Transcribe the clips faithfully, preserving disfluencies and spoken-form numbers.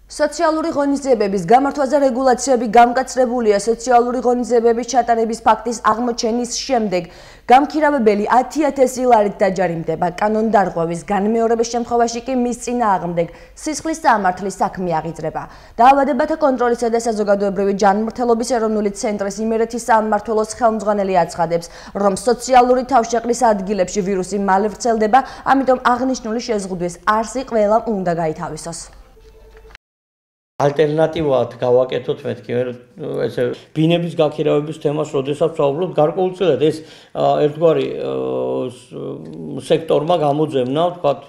სოციალური ღონისძიებების გამართვაზე რეგულაციები გამკაცრებულია. სოციალური ღონისძიებების ჩატარების ფაქტის აღმოჩენის შემდეგ გამქირავებელი ათი ათასი ლარით დაჯარიმდება. კანონდარღვევის განმეორების შემთხვევაში კი მის წინააღმდეგ სისხლის სამართლის საქმე აღიძრება. დაავადებათა კონტროლისა და საზოგადოებრივი ჯანმრთელობის ეროვნული ცენტრის იმერეთის სამმართველოს ხელმძღვანელი აცხადებს, რომ სოციალური თავშეყრის ადგილებში ვირუსი მალე ვრცელდება, ამიტომ აღნიშნული შეზღუდვის არსი ყველამ უნდა გაითავისოს. ალტერნატივად გავაკეთოთ მეთქი ესე ბინების გაქირავების თემას, როდესაც ვსაუბრობთ, გარკვეულწილად ეს ერთგვარი სექტორმა გამოძებნა, ვთქვათ,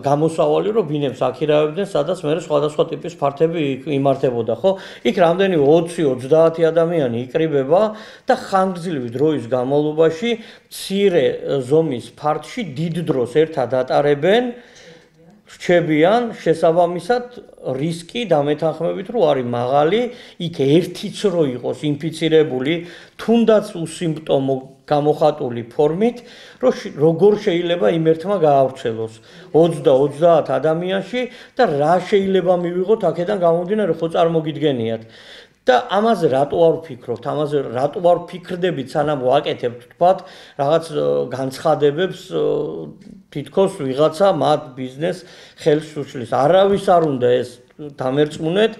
გამოსავალი, რომ ბინებს აქირავებდნენ, სადაც მე სხვადასხვა ტიპის ფართები იმართებოდა, ხო? იქ რამდენი ოცი ოცდაათი ადამიანი იკრიბება და ხანგრძლივი დროის განმავლობაში მცირე ზომის ფართში დიდ დროს ერთად ატარებენ. რჩებიან შესაბამისად რისკი დამეთანხმებით რომ არის მაღალი, იქ ერთიც რო იყოს ინფიცირებული, თუნდაც უსიმპტომო გამოხატული ფორმით, რომ როგორ შეიძლება იმ ერთმა გაავრცელოს ოცდა ოცდაათ ადამიანში და რა შეიძლება მივიღოთ აქედან გამომდინარე, ხო წარმოგიდგენიათ. და ამაზე რატო არ ვფიქრობთ, ამაზე რატო არ ვფიქრდებით, სანამ ვაკეთებთ, თქვათ, რაღაც განცხადებებს თითქოს ვიღაცა მათ ბიზნეს ხელს უშლის. არავის არ უნდა ეს დამერწმუნეთ,